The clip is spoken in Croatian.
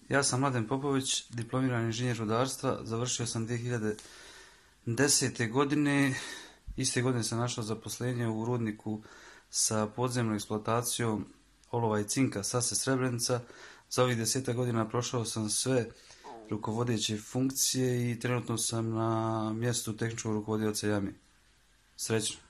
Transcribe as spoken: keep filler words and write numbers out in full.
Ja sam Mladen Popović, diplomirani inženjer rudarstva, završio sam dvije hiljade desete. godine. Iste godine sam našao zaposlenje u rudniku sa podzemnom eksploatacijom olova i cinka Sase Srebrenica. Za ovih deseta godina prošao sam sve rukovodeće funkcije i trenutno sam na mjestu tehničkog rukovodioca jame. Srećno!